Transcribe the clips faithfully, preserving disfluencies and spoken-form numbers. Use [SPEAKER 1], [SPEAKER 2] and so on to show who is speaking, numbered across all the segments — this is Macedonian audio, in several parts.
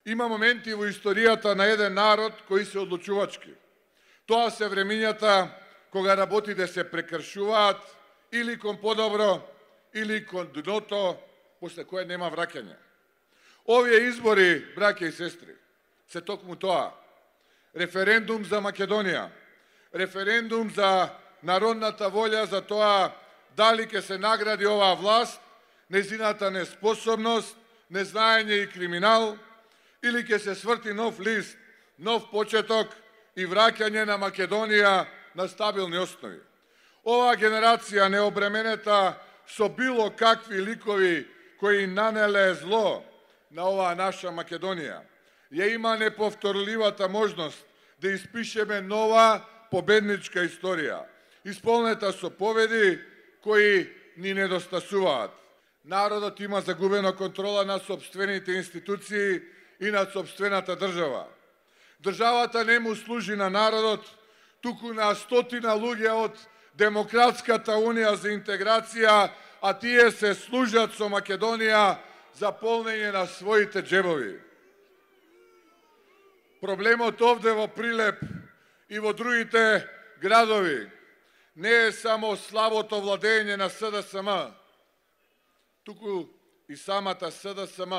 [SPEAKER 1] Има моменти во историјата на еден народ кои се одлучувачки. Тоа се времињата кога работите се прекршуваат или кон подобро, или кон дното, после кое нема враќање. Овие избори, браќа и сестри, се токму тоа. Референдум за Македонија, референдум за народната волја за тоа дали ќе се награди оваа власт, незината неспособност, незнаење и криминал, или ќе се сврти нов лист, нов почеток и враќање на Македонија на стабилни основи. Оваа генерација необременета со било какви ликови кои нанеле зло на оваа наша Македонија, ја има неповторливата можност да испишеме нова победничка историја, исполнета со победи кои ни недостасуваат. Народот има загубена контрола над сопствените институции и над сопствената држава. Државата не му служи на народот, туку на стотина луѓе од Демократската унија за интеграција, а тие се служат со Македонија за полнење на своите джебови. Проблемот овде во Прилеп и во другите градови не е само слабото владење на СДСМ, туку и самата СДСМ,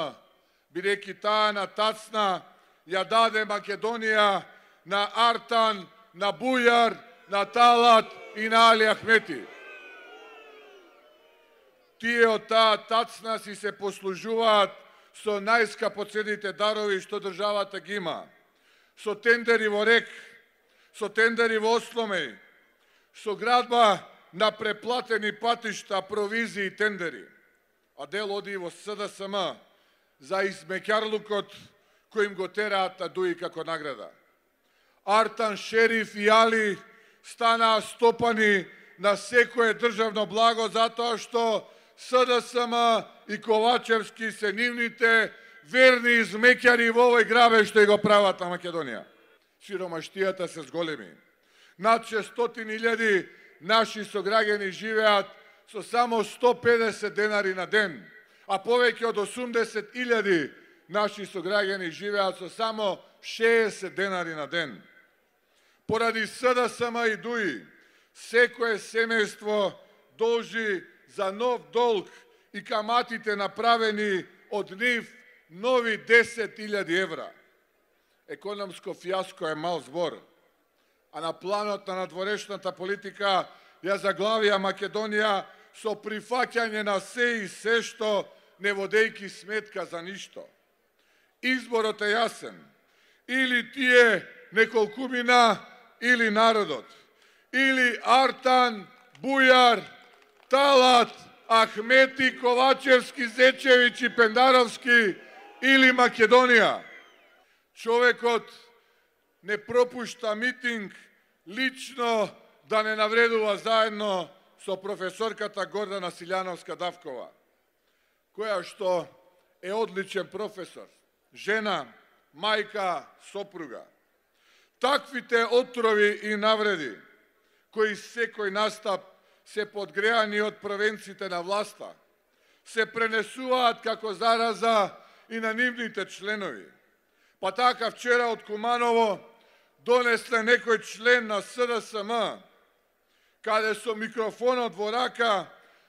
[SPEAKER 1] бидејќи таа на Тацна ја даде Македонија на Артан, на Бујар, на Талат и на Али Ахмети. Тие од таа Тацна си се послужуваат со најскапоценните дарови што државата ги има. Со тендери во Рек, со тендери во Осломеј, со градба на преплатени патишта, провизии и тендери. А дел оди во СДСМ за измеќарлукот кој им го тераат на дуи како награда. Артан, Шериф и Али станаа стопани на секое државно благо затоа што СДСМ и Ковачевски се нивните верни измеќари во овој грабеж што го прават на Македонија. Сиромаштијата се зголеми. Над шестстотини илјади наши сограѓани живеат со само сто педесет денари на ден, а повеќе од осумдесет илјади наши сограѓани живеат со само шеесет денари на ден. Поради СДСМ и ДУИ, секое семејство должи за нов долг и каматите направени од нив нови десет илјади евра. Економско фијаско е мал збор, а на планот на надворешната политика ја заглавија Македонија со прифаќање на се и се што не водејки сметка за ништо. Изборот е јасен. Или тие неколкумина, или народот. Или Артан, Бујар, Талат, Ахмети, Ковачевски, Зечевич и Пендаровски, или Македонија. Човекот не пропушта митинг лично да не навредува заедно со професорката Гордана Силјановска-Давкова, која што е одличен професор, жена, мајка, сопруга. Таквите отрови и навреди, кои секој настап се подгреани од провенците на власта, се пренесуваат како зараза и на нивните членови. Па така вчера од Куманово донесле некој член на СДСМ, каде со микрофонот во рака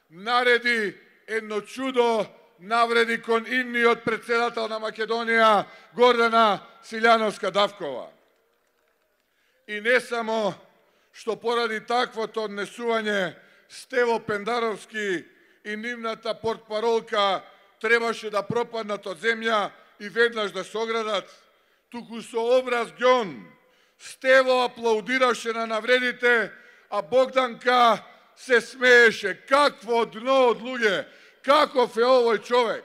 [SPEAKER 1] нареди едно чудо навреди кон инниот председател на Македонија Гордана Силјановска-Давкова. И не само што поради таквото однесување Стево Пендаровски и нивната портпаролка требаше да пропаднат од земја и веднаш да се оградат, туку со образ ѓон Стево аплаудираше на навредите, а Богданка се смееше. Какво дно од луѓе, каков е овој човек?